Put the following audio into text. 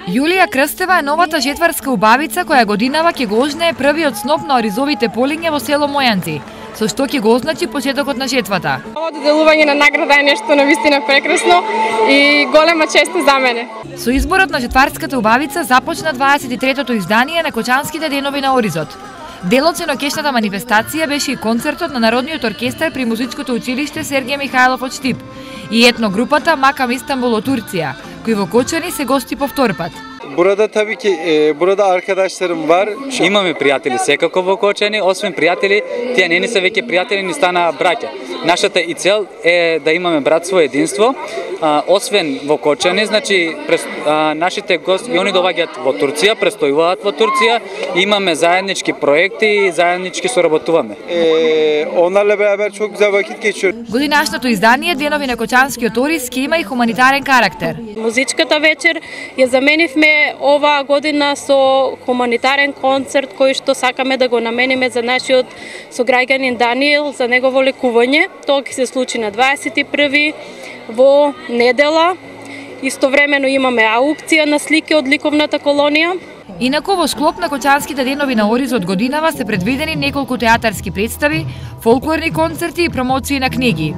Јулија Крстева е новата жетварска убавица која годинава ќе го ожнее првиот сноп на оризовите полиња во село Мојанци, со што ќе го означи почетокот на жетвата. Ово доделување на награда е нешто навистина прекрасно и голема чест за мене. Со изборот на жетварската убавица започна 23-тото издание на Кочанските денови на Оризот. Дел од сенокешната манифестација беше и концертот на Народниот оркестар при Музичкото училиште Сергиј Михајлов од Штип и етногрупата Макам Истанбул од Турција, кои во Кочани се гости по втор пат. Burada tabii ki burada arkadaşlarım var. Имаме пријатели секако во Кочани, освен пријатели, тие не се веќе пријатели, ни стана браќа. Нашата и цел е да имаме братство и единство. Освен во Кочани, значи нашите гости и они доаѓаат во Турција, престојуваат во Турција, имаме заеднички проекти и заеднички соработуваме. Onlarla beraber çok güzel vakit geçiriyoruz. Годинашното издание Денови на Кочанскиот Ориз ќе има и хуманитарен карактер. Музичката вечер ја заменивме оваа година со хуманитарен концерт кој што сакаме да го намениме за нашиот сограѓанин Даниел за негово лекување. Тоа ќе се случи на 21 во недела. Истовремено имаме аукција на слики од ликовната колонија. Инаку во склоп на Кочанските денови на Ориз од годинава се предвидени неколку театарски представи, фолклорни концерти и промоции на книги.